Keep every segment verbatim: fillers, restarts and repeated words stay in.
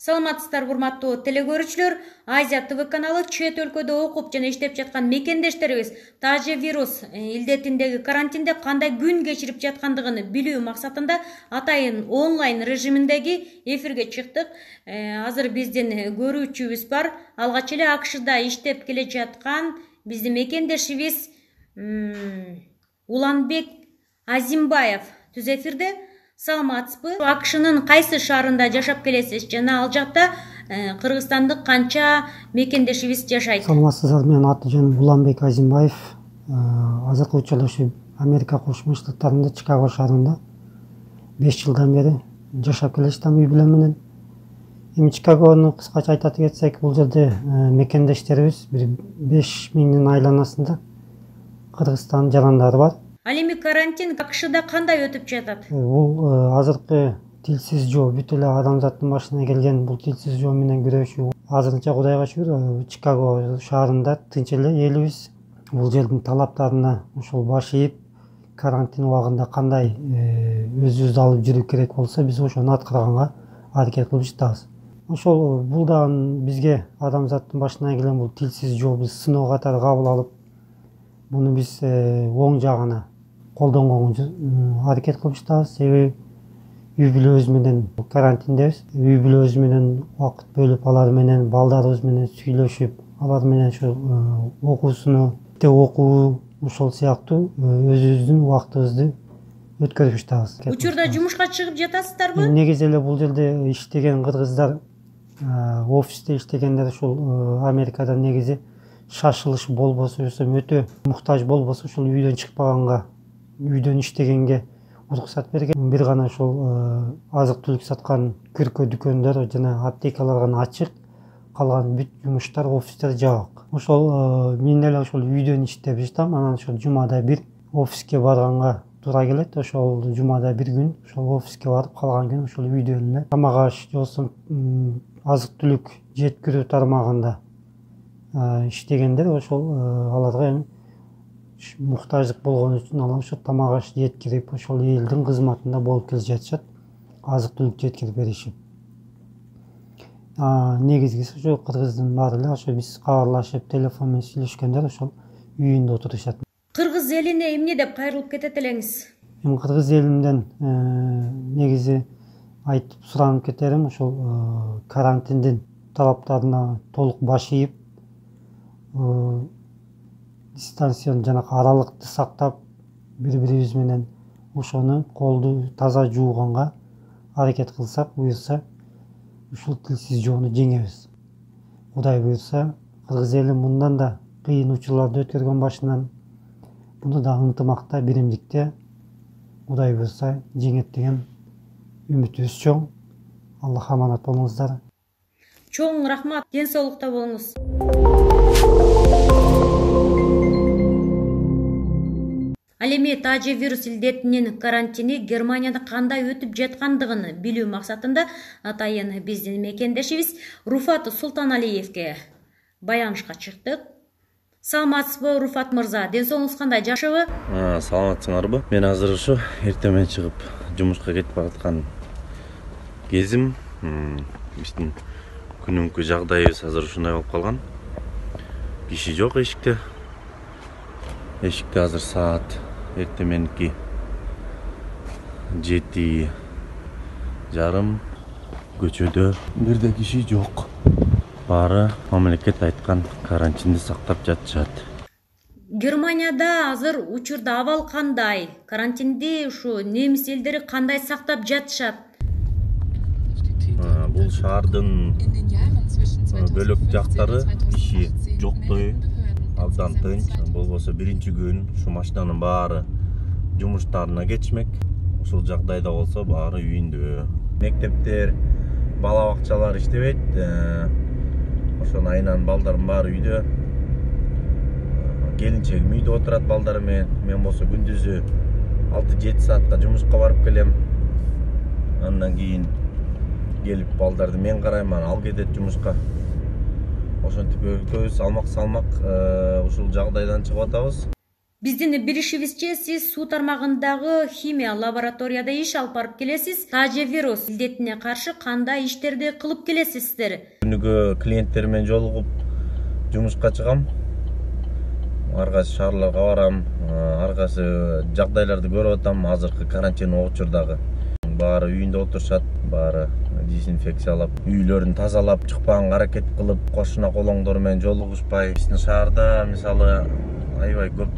Саламатсыздар урматтуу телекөрүүчүлөр. Азия ТВ каналы чет өлкөдө окуп жана иштеп жаткан мекендештерибиз тажи вирус илдетиндеги карантинде кандай күн кечирип жаткандыгын билүү максатында атайын онлайн режиминдеги эфирге чыктык. Азыр биздин көрүүчүбүз бар. Алгач эле АКШда иштеп келе жаткан биздин мекендешибиз Уланбек Азимбаев түз эфирде. Саламатсызбы? АКШнын кайсы шаарында жашап келесиз жана ал жакта кыргызстандык канча мекендешибиз жашайт? Саламатсыздар, менин аты-жөнүм Уланбек Азимбаев. Азыркы учурда ушу Америка Кошмо Штаттарында Чикаго шаарында беш жылдан бери жашап келатам үй бүлө менен. Эми Чикагону кыскача айтат кетсек, бул жерде мекендештерибиз бир беш миңдин айланасында Кыргызстан жарандары бар. Ал эми карантин АКШда кандай өтүп жатат? Бул азыркы тилсиз жоо, бүт эле адамзаттын башына келген бул тилсиз жоо менен күрөшүү азырынча Кудайга шүгүр Чикаго шаарында тынч эле элибиз. Бул жердин талаптарына ошол баш ийип, карантин убагында кандай өзүбүздү алып жүрүү керек болсо, биз ошону аткарганга аракет кылып жатабыз. Ошол бул дагы бизге адамзаттын башына келген бул тилсиз жоо биз сыноо катары кабыл алып, буну биз оң жагына колдонгонго аракет кылып жатабыз. Себеби үй бүлөбүз менен карантиндебиз. Үй бүлөбүз менен убакыт бөлүп, алар менен балдарыбыз менен сүйлөшүп, алар менен ушу окуусуну, окуу, ошол сыяктуу өзүбүздүн убактыбызды өткөрүп жатабыз. Учурда жумушка чыгып жатасыздарбы? Негизи эле бул жерде иштеген кыргыздар, офисте иштегендер ушул Америкада негизи шашылыш болбосо, өтө муктаж болбосо, ушул үйдөн чыкпаганга, үйдөн иштегенге уруксат берген. Бир гана ушул азык түлүк саткан күркө дүкөндөр жана аптекалар гана ачык, калган бүт жумуштар, офистер жабык. Ошол мен эле ошол үйдөн иштеп жатам. Анан ошол жумада бир офиске барганга туура келет. Ошол жумада бир күн ошол офиске барып, калган күн ошол үйдөн эле тамак аш болсо азык түлүк жеткирүү тармагында иштегендер, ошол аларга эми муктаждык болгон үчүн алар ошо тамак аш жеткирип, ошол элдин кызматында болуп келе жатышат, азык түлүк жеткирип беришип. Негизгиси ошо кыргыздын баары эле ошо биз кабарлашып, телефон менен сүйлөшкөндөр ошол үйүндө отурушат. Кыргыз элине эмне деп кайрылып кетет элеңиз? Эми кыргыз элинден негизи айтып суранып кетерим, ошол карантиндин талаптарына толук баш ийип, дистанциянын жанагы аралыкты сактап, бири-бирибиз менен ошону колду таза жууганга аракет кылсак, буюрса ушул тилсиз жоону жеңебиз. Кудай буюрса, кыргыз эли мындан да кыйын учурларды өткөргөн башынан, буну да ынтымакта, биримдикте Кудай буюрса жеңет деген үмүтүбүз чоң. Аллах аманат болуңуздар. Чоң рахмат, ден соолукта болуңуз. Ал эми тажи вирус илдетинин карантини Германияда кандай өтүп жаткандыгын билүү максатында атайын биздин мекендешибиз Руфат Султаналиевге баянышка чыктык. Саламатсызбы, Руфат мырза? Ден соолугуңуз кандай, жакшыбы? Саламатсыңарбы? Мен азыр ушу эртең менен чыгып жумушка кетип бараткан кезим. Биздин күнүмкү жагдайыбыз азыр ушундай болуп калган. Киши жок эшикте. Эшикте азыр саат эртең мененки жети жарым, көчөдө бирде киши жок. Баары мамлекет айткан карантинди сактап жатышат. Германияда азыр учурда абал кандай? Карантинди ушу немис элдери кандай сактап жатышат? Бул шаардын бөлөк жактары киши жоктой, абдан тынч. Болбосо биринчи күн ушу машинанын баары жумуштарына кетишмек. Ушул жагдайда болсо баары үйүндө. Мектептер, бала бакчалар иштебейт. Ошонун айынан балдардын баары үйдө. Келинчегим үйдө отурат балдары менен. Мен болсо күндүзү алты жети саатка жумушка барып келем. Андан кийин келип балдарды мен карайм, анан ал кетет жумушка. Ошентип экөөбүз салмак салмак ушул жагдайдан чыгып атабыз. Биздин билишибизче, сиз суу тармагындагы химия лабораторияда иш алып барып келесиз. Тажы вирус илдетине каршы кандай иштерди кылып келесиздер? Күнүгө клиенттер менен жолугуп жумушка чыгам. Ар кайсы шаарларга барам, ар кайсы жагдайларды көрүп атам. Азыркы карантин учурдагы баары үйүндө отурушат, баары дезинфекциялап, үйлөрүн тазалап, чыкпаганга аракет кылып, кошуна колоңдор менен жолугушпай. Биздин шаарда мисалы аябай көп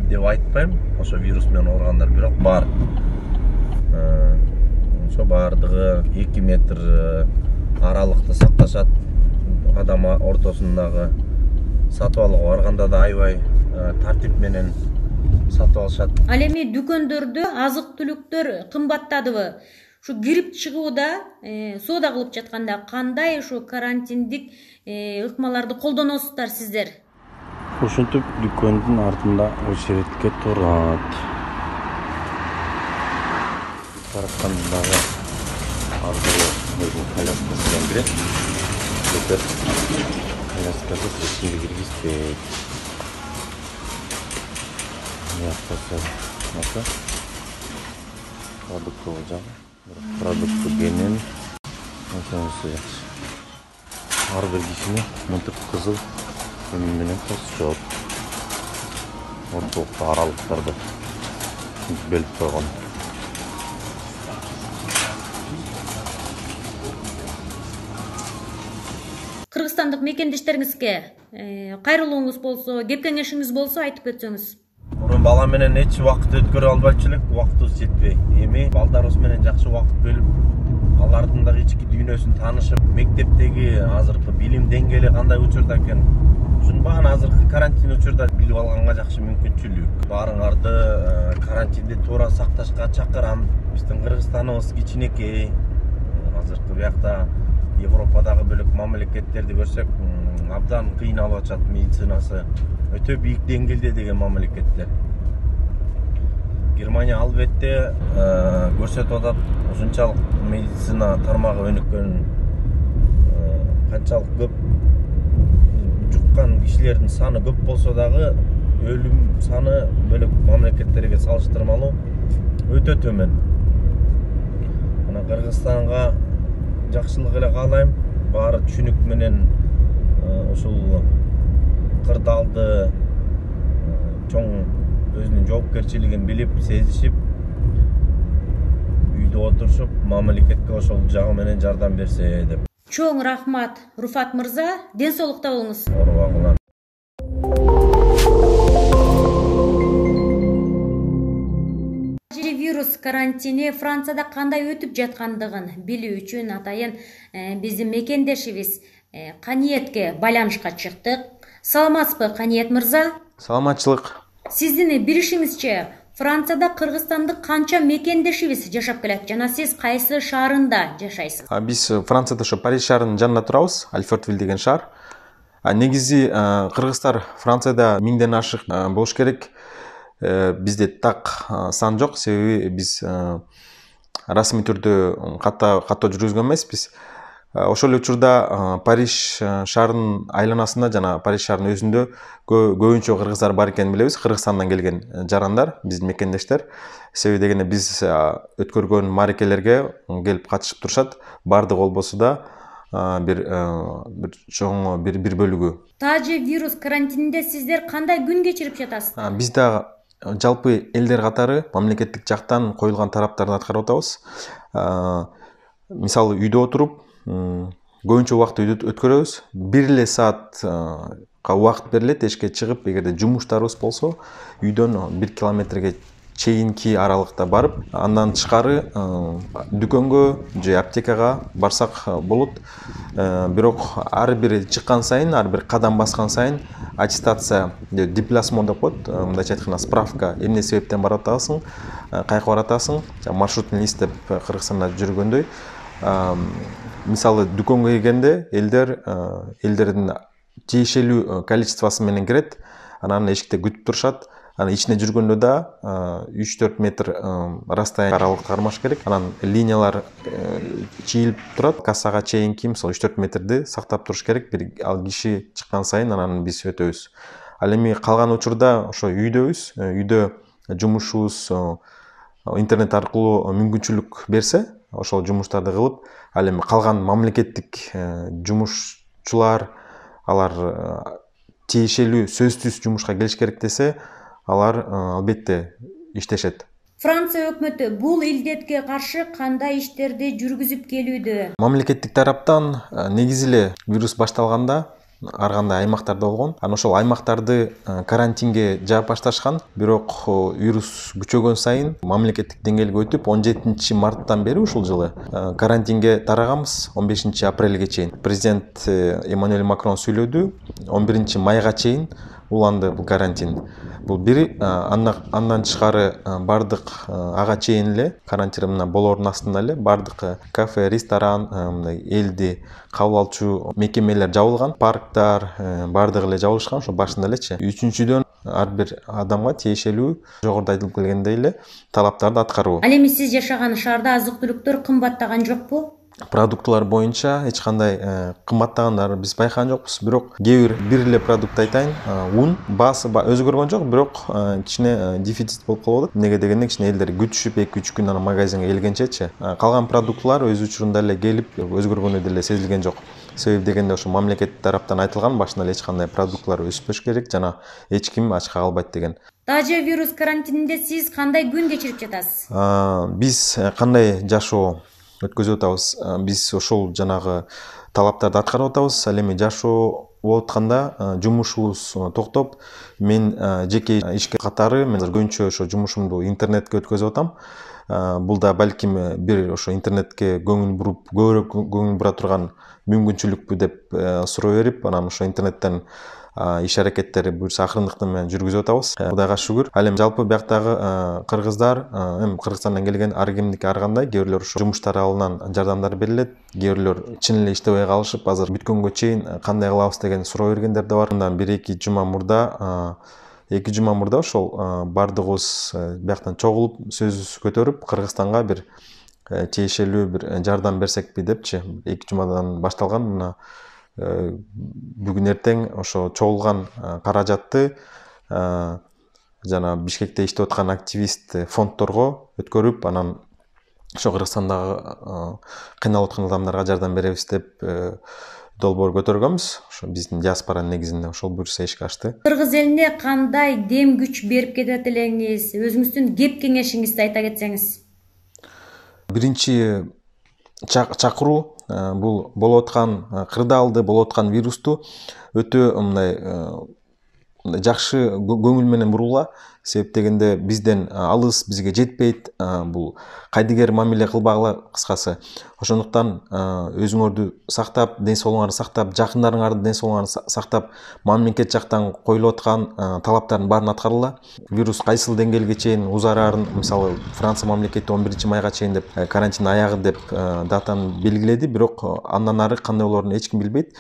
деп айтпайм, ошо вирус менен ооругандар бирок бар. Ошо баардыгы эки метр аралыкты сакташат. Адам ортосундагы сатып алууга барганда да аябай тартип менен сатып алышат. Ал эми дүкөндөрдө азык-түлүктөр кымбаттадыбы? Ушу кирип чыгууда, соода кылып жатканда кандай ушу карантиндик ыкмаларды колдоносуздар сиздер? Ушинтип дүкөндүн артында очередке турат. Таракандагы ардылы өзүнүн коляскасынан кирет. Көтөр коляскасы ичине киргизбейт. Маса продуктовый жагы, продукты кенен ошонусу жакшы. Ар бир кишини мынтип кызыл эми менен тосчоп. Ортолукта аралыктарды белип койгон. Кыргызстандык мекендештериңизге кайрылууңуз болсо, кеп кеңешиңиз болсо айтып кетсеңиз. Мурун бала менен эч убакыт өткөрө албайчу элек, убактыбыз жетпей. Эми балдарыбыз менен жакшы убакыт бөлүп, алардын дагы ички дүйнөсүн таанышып, мектептеги азыркы билим деңгээли кандай учурда экен, ушунун баарын азыркы карантин учурда билип алганга жакшы мүмкүнчүлүк. Баарыңарды карантинди туура сакташка чакырам. Биздин Кыргызстаныбыз кичинекей. Азыркы биякта Европадагы бөлөк мамлекеттерди көрсөк, абдан кыйналып атат медицинасы. Өтө бийик деңгээлде деген мамлекеттер. Германия албетте көрсөтүп атат, ушунчалык медицина тармагы өнүккөн, канчалык көп жуккан кишилердин саны көп болсо дагы өлүм саны бөлөк мамлекеттерге салыштырмалуу өтө төмөн. Мына Кыргызстанга жакшылык эле каалайм. Баары түшүнүк менен ушул кырдаалды чоң өзүнүн жоопкерчилигин билип, сезишип, үйдө отурушуп, мамлекетке ошол жагы менен жардам берсе деп. Чоң рахмат, Руфат мырза, ден соолукта болуңуз. Оорубагыла. Вирус карантини Францияда кандай өтүп жаткандыгын билүү үчүн атайын биздин мекендешибиз Каниетке байланышка чыктык. Саламатсызбы, Каниет мырза? Саламатчылык. Сиздин билишиңизче, Францияда кыргызстандык канча мекендешибиз жашап келет жана сиз кайсы шаарында жашайсыз? Биз Францияда ошо Париж шаарынын жанында турабыз, Альфортвиль деген шаар. Негизи кыргыздар Францияда миңден ашык болуш керек. Бизде так сан жок, себеби биз расмий түрдө каттоо жүргүзгөн эмеспиз. Ошол эле учурда Париж шаарынын айланасында жана Париж шаарынын өзүндө көбүнчө кыргыздар бар экенин билебиз. Кыргызстандан келген жарандар, биздин мекендештер. Себеби дегенде биз өткөргөн маарекелерге келип катышып турушат. Бардыгы болбосо да бир бир чоң бир бир бөлүгү. Тажы вирус карантининде сиздер кандай күн кечирип жатасыздар? Биз да жалпы элдер катары мамлекеттик жактан коюлган тараптарды аткарып атабыз. Мисалы үйдө отуруп, көбүнчө убакытты үйдө өткөрөбүз. Бир эле саатка убакыт берилет, эшикке чыгып, эгерде жумуштарыбыз болсо, үйдөн бир километрге чейинки аралыкта барып, андан тышкары дүкөнгө же аптекага барсак болот. Бирок ар бир чыккан сайын, ар бир кадам баскан сайын аттестация, депласмон деп коет, мындайча айтканда справка, эмне себептен барып атасың, кайка барып атасың, маршрутный лист деп Кыргызстанда жүргөндөй. Мисалы дүкөнгө келгенде элдер элдердин тиешелүү количествосы менен кирет, анан эшикте күтүп турушат. Анан ичине жүргөндө да үч төрт метр расстояние аралыкты кармаш керек. Анан линиялар чийилип турат. Кассага чейинки мисалы үч төрт метрди сактап туруш керек. Бир ал киши чыккан сайын анан биз өтөбүз. Ал эми калган учурда ошо үйдөбүз, үйдө жумушубуз интернет аркылуу мүмкүнчүлүк берсе, ошол жумуштарды кылып, ал эми калган мамлекеттик жумушчулар алар тиешелүү сөзсүз жумушка келиш керек десе, алар албетте иштешет. Франция өкмөтү бул илдетке каршы кандай иштерди жүргүзүп келүүдө? Мамлекеттик тараптан негизи эле вирус башталганда ар кандай аймактарда болгон. Анан ошол аймактарды карантинге жаап башташкан. Бирок вирус күчөгөн сайын мамлекеттик деңгээлге өтүп, он жетинчи марттан бери ушул жылы карантинге тараганбыз. он бешинчи апрелге чейин президент Эммануэль Макрон сүйлөдү. он биринчи майга чейин уланды бул карантин. Бул бири, андан тышкары бардык ага чейин эле карантин мына болоордун астында эле бардык кафе, ресторан, мындай элди кабыл алчу мекемелер жабылган, парктар бардыгы эле жабылышкан ошо башында элечи. Үчүнчүдөн ар бир адамга тиешелүү жогоруда айтылып келгендей эле талаптарды аткаруу. Ал эми сиз жашаган шаарда азык-түлүктөр кымбаттаган жокпу? Продуктлар боюнча эч кандай кымбаттагандар биз байкаган жокпуз. Бирок кээ бир бир эле продукт айтайын, ун баасы өзгөргөн жок, бирок кичине дефицит болуп калып атат. Эмнеге дегенде кичине элдер күтүшүп эки үч күн анан магазинге келгенчечи. Калган продуктлар өз учурунда эле келип, өзгөргөнү деле сезилген жок. Себеби дегенде ошо мамлекет тараптан айтылган, башында эле эч кандай продуктлар өспөш керек жана эч ким ачка калбайт деген. Тажы вирус карантининде сиз кандай күн кечирип жатасыз? Биз кандай жашоо өткөзүп атабыз? Биз ошол жанагы талаптарды аткарып атабыз. Ал эми жашоо болуп атканда жумушубуз токтоп, мен жеке ишке катары мен көбүнчө ошо жумушумду интернетке өткөзүп атам. Бул да балким бир ошо интернетке көңүл буруп, көбүрөөк көңүл бура турган мүмкүнчүлүкпү деп суроо берип, анан ошо интернеттен иш аракеттери буюрса акырындыктын менен жүргүзүп атабыз. Кудайга шүгүр. Ал эми жалпы бияктагы кыргыздар, эми Кыргызстандан келген ар кимдики ар кандай, кээ бирлер ошо жумуштар алынан жардамдар берилет, кээ бирлер чын эле иштебей калышып, азыр бүткөнгө чейин кандай кылабыз деген суроо бергендер да бар. Мындан бир эки жума мурда эки жума мурда ошол бардыгыбыз бияктан чогулуп сөз көтөрүп, Кыргызстанга бир тиешелүү бир жардам берсекпи депчи. эки жумадан башталган мына бүгүн эртең ошо чогулган каражатты жана Бишкекте иштеп аткан активист фондторго өткөрүп, анан ошо Кыргызстандагы кыйналып аткан адамдарга жардам беребиз деп долбоор көтөргөнбүз. Ошо биздин диаспоранын негизинде ошол буюрса ишке ашты. Кыргыз элине кандай дем күч берип кетет элеңиз? Өзүңүздүн кеп кеңешиңизди айта кетсеңиз. Биринчи чакыруу бул болуп аткан кырдаалды, болуп аткан вирусту өтө мындай жакшы көңүл менен бурууга. Себеп дегенде бизден алыс, бизге жетпейт, бул кайдыгер мамиле кылбагыла кыскасы. Ошондуктан өзүңөрдү сактап, ден соолугуңарды сактап, жакындарыңардын ден соолугун сактап, мамлекет жактан коюлуп аткан талаптардын баарын аткаргыла. Вирус кайсыл деңгээлге чейин узарарын, мисалы Франция мамлекети он биринчи майга чейин деп карантин аягы деп датаны белгиледи, бирок андан ары кандай болоорун эч ким билбейт.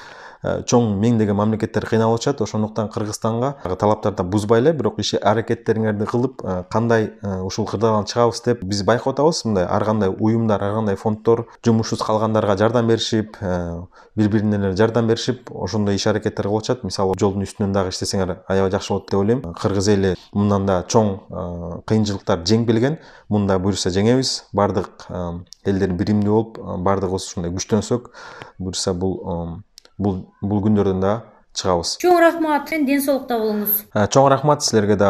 Чоң меңдеген мамлекеттер кыйналып атышат. Ошондуктан Кыргызстанга талаптарды бузбай эле, бирок иш аракеттериңерди кылып, кандай ушул кырдаалдан чыгабыз деп биз байкап атабыз. Мындай ар кандай уюмдар, ар кандай фонддор жумушсуз калгандарга жардам беришип, бири-бирине жардам беришип, ошондой иш аракеттер кылып атышат. Мисалы, жолдун үстүнөн дагы иштесеңер аябай жакшы болот деп ойлойм. Кыргыз эли мындан да чоң кыйынчылыктар жеңип келген. Мында буюрса жеңебиз. Бардык элдер биримдүү болуп, бардыгыбыз ушундай күчтөнсөк, буюрса бул бул бул күндөрдөн да чыгабыз. Чоң рахмат, ден соолукта болуңуз. Чоң рахмат, силерге да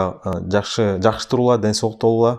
жакшы жакшы турула, ден соолукта болула.